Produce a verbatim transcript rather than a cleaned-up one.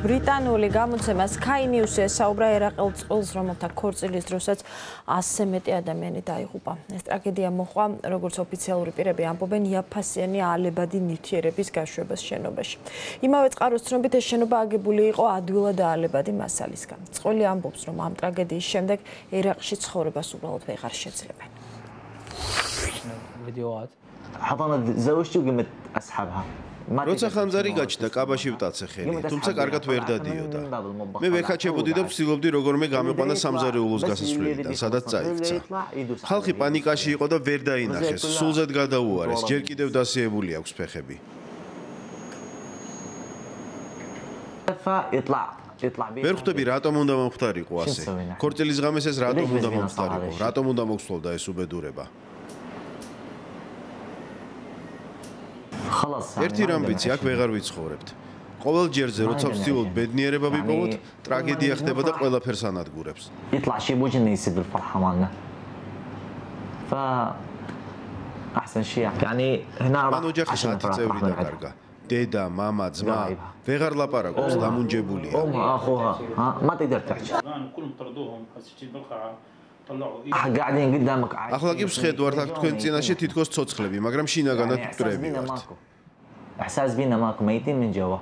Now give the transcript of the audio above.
ბრიტანული გამოცემა Sky News-ი ესაუბრა ერაყელ წყვილს, რომელთა ქორწილის დროსაც ასზე მეტი ადამიანი დაიღუპა. ეს ტრაგედია მოჰყვა, როგორც ოფიციალური პირები ამბობენ, იაფფასიანი ალებადი ნივთიერების გაშვებას შენობაში. იმავე წყაროს ცნობით, ეს შენობა აგებული იყო ადვილად ალებადი მასალისგან. წყვილი ამბობს, რომ ამ ტრაგედიის შემდეგ ერაყში ცხოვრებას უბრალოდ ვეღარ შეძლებენ. فيديوهات حضنت زوجتي وقمت اسحبها როცა ხანძარი გაჩნდა, კაბაში ვტაცე ხელი, თუმცა კარგად ვერ დადიოდა. მე ვექაჩებოდი და ვცდილობდი როგორმე გამეყვანა სამზარეულოს გასასვლელიდან, სადაც წაიქცა. ხალხი პანიკაში იყო და ვერ დაინახეს, სულზედ გადაუარეს, ჯერ კიდევ დასიებული აქვს ფეხები. ვერ ხვდები, რატომ უნდა მომხდარიყო ასე. ქორწილის ღამეს ეს რატომ უნდა მომხდარიყო, რატომ უნდა მოგსვლოდა ეს უბედურება. ერთი რამ ვიცი, აქ ვეღარ ვიცხოვრებთ. ყოველ ჯერზე, როცა ვცდილობ ბედნიერება ვიპოვოთ, ტრაგედია ხდება და ყველაფერს ანადგურებს. يطلع شيء بوجهنا يسد الفرحه مالنا ف احسن شيء يعني هنا მან ოჯახის ათი წევრი დაკარგა. დედა, მამა, ძმა ვეღარ ლაპარაკობს, დამუნჯებულია. ام اخوها ها ما تقدر تحكي كلهم طردوهم حسيت بالقاعه قاعدين قدامك ახლა კი ვხედავთ აქ თქვენ წინაშე თითქოს ცოცხლები, მაგრამ შინაგანად მკვდრები ვართ. احساس بينا ماكو ميتين من جوا